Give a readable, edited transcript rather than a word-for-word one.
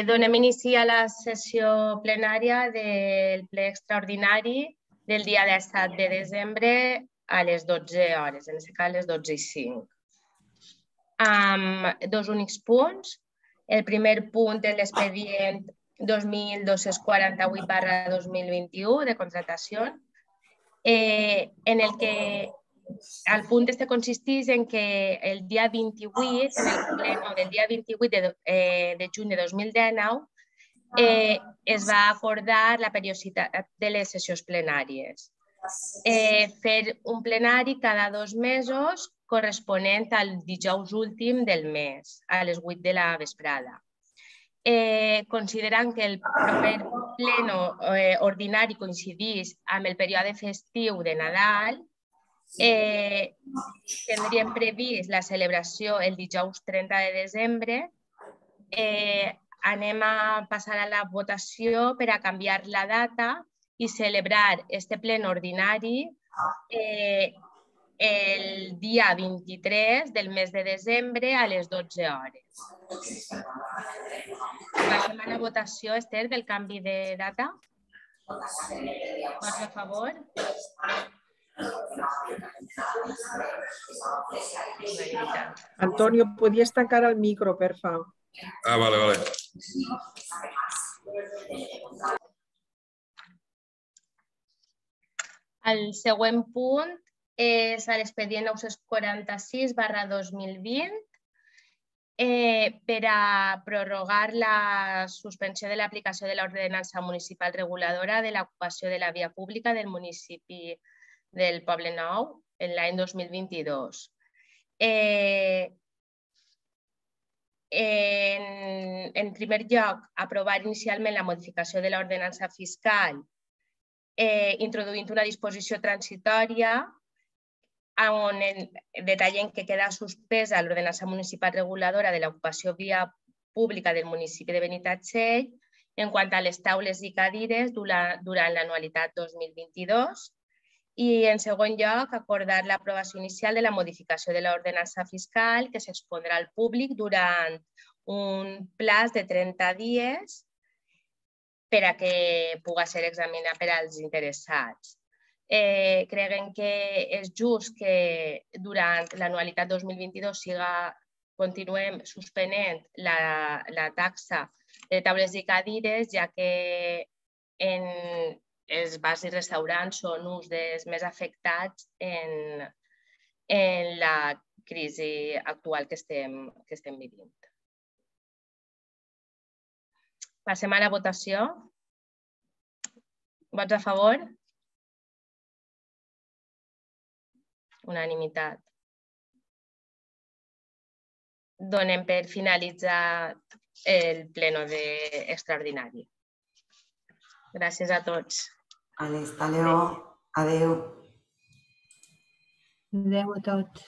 Donem inici a la sessió plenària del ple extraordinari del dia 17 de desembre a les 12 hores, en aquest cas a les 12:05. Amb dos únics punts. El primer punt és l'expedient 2248/2021 de contratació, en el que el punt consisteix en que el dia 28, en el pleno del dia 28 de juny de 2019, es va acordar la periodicitat de les sessions plenàries. Fer un plenari cada 2 mesos corresponent al dijous últim del mes, a les 8 de la vesprada. Considerant que el proper pleno ordinari coincideix amb el període festiu de Nadal, tindríem previst la celebració el dijous 30 de desembre. Anem a passar a la votació per a canviar la data i celebrar este ple ordinari el dia 23 del mes de desembre a les 12 hores. Passem a la votació, Esther, del canvi de data. Vots a favor? Antonio, ¿podías tancar el micro, per favor? Vale. El següent punt és l'expedient 946/2020 per a prorrogar la suspensió de l'aplicació de l'ordenança municipal reguladora de l'ocupació de la via pública del municipi del Poblenou en l'any 2022. En primer lloc, aprovar inicialment la modificació de l'ordenança fiscal introduint una disposició transitòria on detallen que queda suspesa l'ordenança municipal reguladora de l'ocupació via pública del municipi de Benitatxell en quant a les taules i cadires durant l'anualitat 2022. I, en segon lloc, acordar l'aprovació inicial de la modificació de l'ordenança fiscal que s'expondrà al públic durant un plaç de 30 dies per a que pugui ser examinat per als interessats. Creiem que és just que durant l'anualitat 2022 continuem suspenent la taxa de taules i cadires, ja que els bars i restaurants són uns dels més afectats en la crisi actual que estem vivint. Passem a la votació. Vots a favor? Unanimitat. Donem per finalitzat el pleno extraordinari. Gràcies a tots. Hasta luego. Adéu. Adéu a tots.